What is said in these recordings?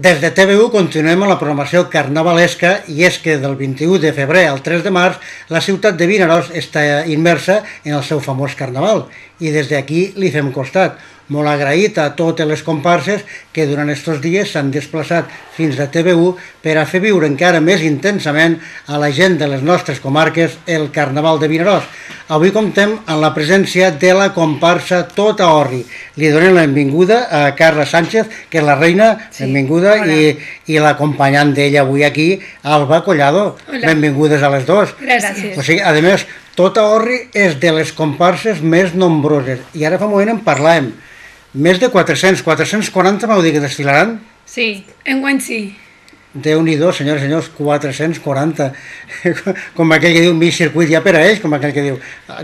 Des de TV1 continuem amb la programació carnavalesca i és que del 21 de febrer al 3 de març la ciutat de Vinaròs està immersa en el seu famós carnaval i des d'aquí li fem costat. Molt agraït a totes les comparses que durant aquests dies s'han desplaçat fins a TV1 per a fer viure encara més intensament a la gent de les nostres comarques el Carnaval de Vinaròs. Avui comptem amb la presència de la comparsa Tota Orri. Li donem la benvinguda a Carla Sánchez, que és la reina, benvinguda, i l'acompanyant d'ella avui aquí, Alba Collado. Benvingudes a les dos. Gràcies. O sigui, a més, Tota Orri és de les comparses més nombroses i ara fa un moment en parlàvem. Més de 440 m'heu dit que desfilaran? Sí, enguany sí. Déu-n'hi-do, senyores i senyors, 440. Com aquell que diu, mig circuit ja per a ells, com aquell que diu,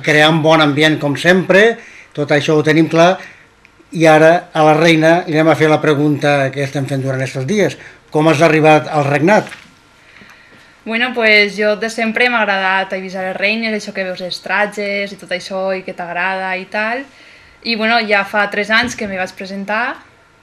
crear un bon ambient com sempre, tot això ho tenim clar, i ara a la reina li anem a fer la pregunta que estem fent durant aquests dies. Com has arribat al regnat? Bueno, pues jo de sempre m'ha agradat avisar les reines, això que veus els tratges i tot això i que t'agrada i tal. I bueno, ja fa 3 anys que m'hi vaig presentar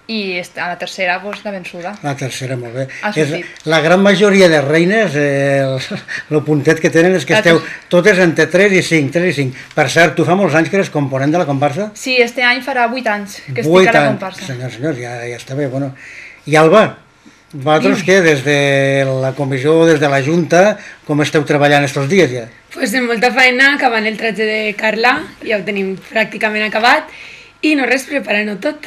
i a la tercera pues, la vençuda. La tercera, molt bé. Ha sortit. La gran majoria de reines, el puntet que tenen és que esteu totes entre 3 i 5, 3 i 5. Per cert, tu fa molts anys que eres component de la comparsa? Sí, este any farà 8 anys que estic a la comparsa. 8 anys, senyors, ja està bé. Bueno. I Alba, vosaltres què, des de la comissió, des de la Junta, com esteu treballant aquests dies ja? Pues amb molta feina, acabant el tratge de Carla, ja ho tenim pràcticament acabat, i no res, preparant-ho tot.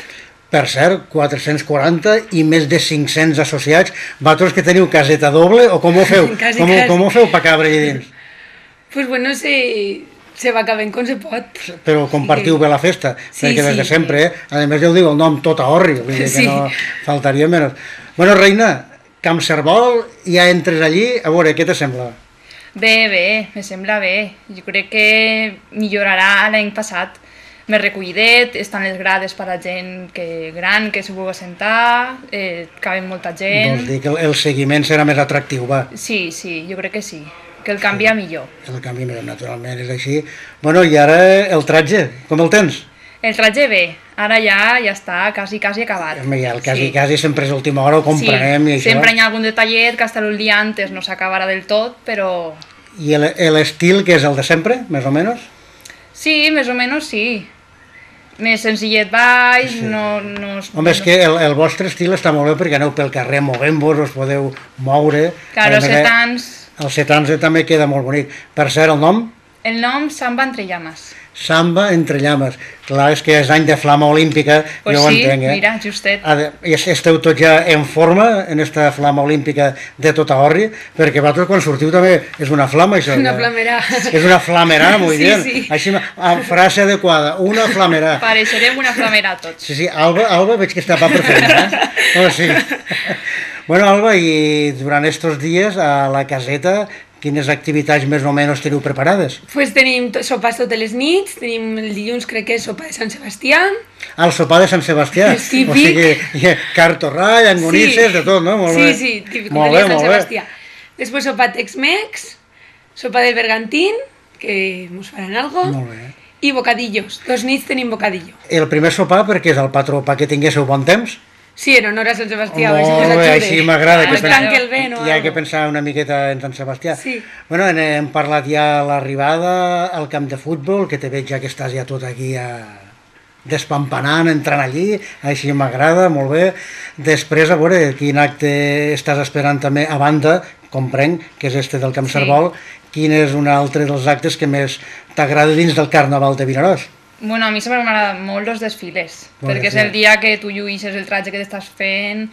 Per cert, 440 i més de 500 associats, vosaltres que teniu caseta doble o com ho feu? Com ho feu per cabre allà dins? Pues bueno, se va acabant com se pot. Però compartiu bé la festa, perquè des de sempre, a més ja ho diu el nom Tota Orri, vull dir que no faltaria menys. Bueno, reina, Camp Cerbol, ja entres allí, a veure, què te sembla? Bé, me sembla bé. Jo crec que millorarà l'any passat. Més recollidet, estan les grades per a gent gran que s'ho vulgui sentar, caben molta gent. Vols dir que el seguiment serà més atractiu, va? Sí, jo crec que sí, que el canvia millor. El canvia millor, naturalment, és així. Bueno, i ara el tratge, com el tens? El tratge bé, ara ja està quasi acabat. El quasi sempre és l'última hora, ho comprenem i això. Sempre hi ha algun detallet que hasta el dia antes no s'acabarà del tot, però... I l'estil que és el de sempre, més o menys? Sí, més o menys sí. Més senzillet baix, no... Home, és que el vostre estil està molt bé perquè aneu pel carrer movent-vos, us podeu moure... Claro, els setans... Els setans també queda molt bonic. Per cert, el nom? El nom Samba entre llames. Samba entre llames. Clar, és que és any de flama olímpica, pues jo ho entenc, sí, mira, justet. Esteu tots ja en forma, en esta flama olímpica de Tota Orri, perquè vosaltres quan sortiu també és una flama, això. Una flamerà. És una flamerà, muy bien. Sí. Així, frase adequada, una flamerà. Pareixerem una flamerà tots. Sí, Alba veig que està pa per feina, Oh, sí. Bueno, Alba, i durant aquests dies a la caseta, quines activitats més o menys teniu preparades? Pues tenim sopars totes les nits, tenim el dilluns crec que és sopa de Sant Sebastià. El sopar de Sant Sebastià? És típic. O sigui, cartorrà, llangonisses, de tot, no? Molt bé. Sí, típic de Sant Sebastià. Després sopa Tex-Mex, sopa del bergantín, que mos faran algo. Molt bé. I bocadillos, 2 nits tenim bocadillo. El primer sopar perquè és el patró, perquè tinguéssiu bon temps? Sí, en honor a Sant Sebastià. Molt bé, així m'agrada. Hi ha que pensar una miqueta en Sant Sebastià. Sí. Bueno, hem parlat ja a l'arribada al camp de futbol, que te veig ja que estàs ja tot aquí despampanant, entrant allí, així m'agrada, molt bé. Després, a veure, quin acte estàs esperant també a banda, comprenc, que és este del Camp Cerbol, quin és un altre dels actes que més t'agrada dins del Carnaval de Vinaròs? Bueno, a mi sempre m'agraden molt els desfiles, perquè és el dia que tu lluïsses el tratge que t'estàs fent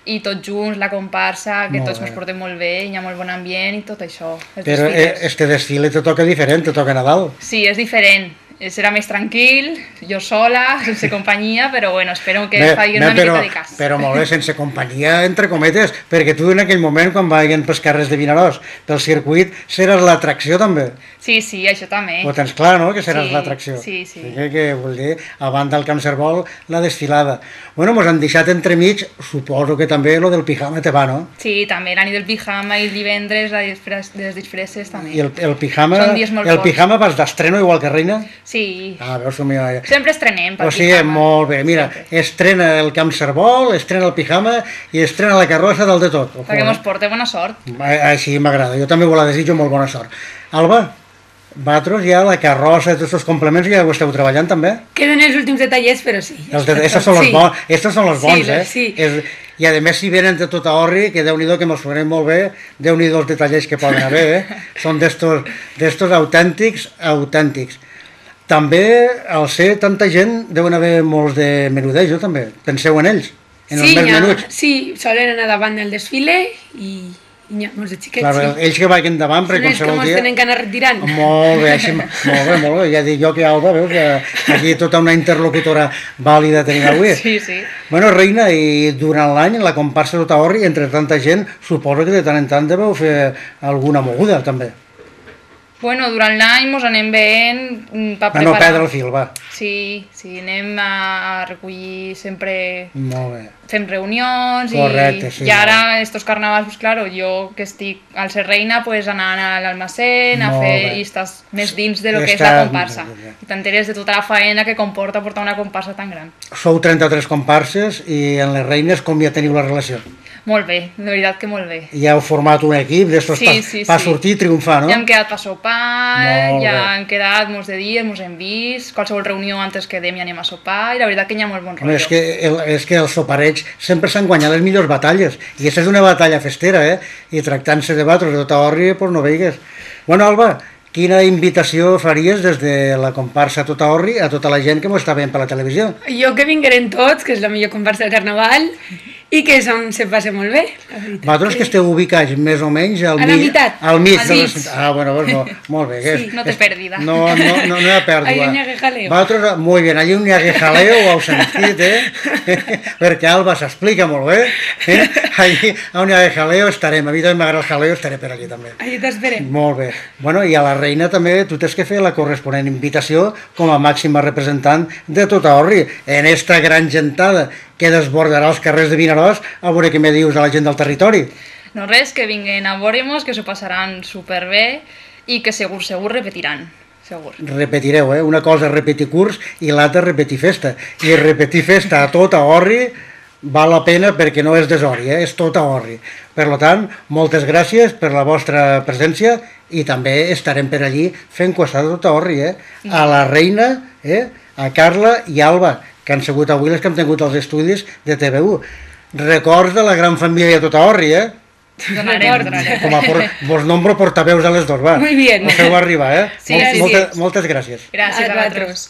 i tots junts, la comparsa, que tots ens portem molt bé, hi ha molt bon ambient i tot això. Però este desfile te toca diferent, te toca Nadal. Sí, és diferent. Serà més tranquil, jo sola, sense companyia, però bueno, espero que faci una miqueta de cas. Però molt bé, sense companyia, entre cometes, perquè tu en aquell moment, quan vagin pels carrers de Vinaròs, pel circuit, seràs l'atracció també. Sí, això també. Ho tens clar, no?, que seràs l'atracció. Sí. Que vol dir, a banda del Camp Cerbol, la desfilada. Bueno, mos han deixat entremig, suposo que també lo del pijama te va, no? Sí, també la nit del pijama i el divendres les disfresses també. I el pijama, són dies molt forts. Pijama vas d'estreno igual que reina? Sí. Veus, somio... Sempre estrenem pel O sigui, pijama. molt bé. Mira, estrena el camp Cerbol, estrena el pijama i estrena la carrossa del de tot. Perquè mos porta bona sort. Així m'agrada. Jo també la desitjo molt bona sort. Alba, vosaltres ja la carrossa i tots els complements ja ho esteu treballant també? Queden els últims detallets, però sí. Estos són els bons, estos són els bons, Sí. I a més si venen de tota Orri, que Déu-n'hi-do que mos farem molt bé, Déu-n'hi-do els detallets que poden haver, Són d'estos autèntics. També, al ser tanta gent, deuen haver molts de menudejo també. Penseu en ells, en els més menuts. Sí, solen anar davant del desfile i hi ha molts de xiquets, Clar, ells que vagin davant, perquè són els que mos tenen que anar retirant. Molt bé, així, molt bé. Ja dic jo que Alba, veus, que aquí tota una interlocutora vàlida tenim avui. Sí. Bueno, Reina, i durant l'any, la comparsa de Taorri, entre tanta gent, suposo que de tant en tant deveu fer alguna moguda, també. Bueno, durant l'any mos anem veient per preparar... No perdre el fil, va. Sí, anem a recollir sempre... Molt bé. Fem reunions. Correcte, sí. I ara, estos carnavals, pues claro, jo que estic al ser reina, pues anant a l'almacén a fer i estàs més dins de lo que és la comparsa. I t'enteres de tota la faena que comporta portar una comparsa tan gran. Sou 33 comparses i en les reines com ja teniu la relació? Molt bé, de veritat que molt bé. Ja heu format un equip d'estos per sortir i triomfar, no? Ja hem quedat per sopar, ja hem quedat molts de dies, mos hem vist, qualsevol reunió antes que dem ja anem a sopar, i la veritat que hi ha molt bon rotllo. És que els sopareig sempre s'han guanyat les millors batalles, i aquesta és una batalla festera, i tractant-se de batros de tota Orri, doncs no veigues. Bueno, Alba, quina invitació faries des de la comparsa Tota Orri a tota la gent que m'ho està veient per la televisió? Jo que vingueren tots, que és la millor comparsa del carnaval, i que se passa molt bé, la veritat. Vosaltres que esteu ubicats més o menys al mig... A la meitat. Al mig. Bueno, pues no, molt bé. Sí, no té pèrdida. No hi ha pèrdua. Allí on hi ha jaleo. Vosaltres, molt bé, allí on hi ha jaleo, ho heu sentit, perquè Alba s'explica molt bé. Allí on hi ha jaleo estarem. A mi també m'agrada el jaleo, estaré per allí també. Allí t'esperem. Molt bé. Bueno, i a la reina també tu tens que fer la corresponent invitació com a màxima representant de tota Orri en esta gran gentada que desbordarà els carrers de Vinaròs, a veure què me dius a la gent del territori. No res, que vinguen a veure-mos, que s'ho passaran superbé i que segur repetiran. Segur. Repetireu, una cosa és repetir curs i l'altra repetir festa. I repetir festa a tota Orri val la pena perquè no és desori, és tota Orri. Per tant, moltes gràcies per la vostra presència i també estarem per allí fent costat de tota Orri, a la reina, a Carla i Alba, que han sigut avui les que han tingut els estudis de TV1. Records de la gran família de tota Orri, Donarem. Vos nombro portaveus a les dos, va. Muy bien. Ho feu arribar, Sí, Moltes gràcies. Gràcies a vosaltres.